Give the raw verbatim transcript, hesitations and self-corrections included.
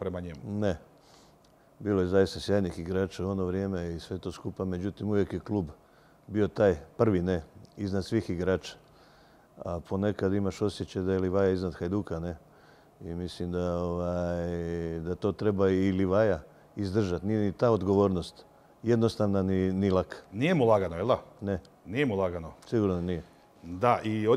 prema njemu. Ne. Bilo je zaista sjajnih igrača u ono vrijeme i sve to skupa. Međutim, uvijek je klub bio taj prvi, ne, iznad svih igrača. A ponekad imaš osjećaj da je Livaja iznad Hajduka, ne. I mislim da, ovaj, da to treba i Livaja izdržati. Nije ni ta odgovornost jednostavna ni, ni laka. Nije mu lagano, jel da? Ne. Nije mu lagano. Sigurno nije. Da, i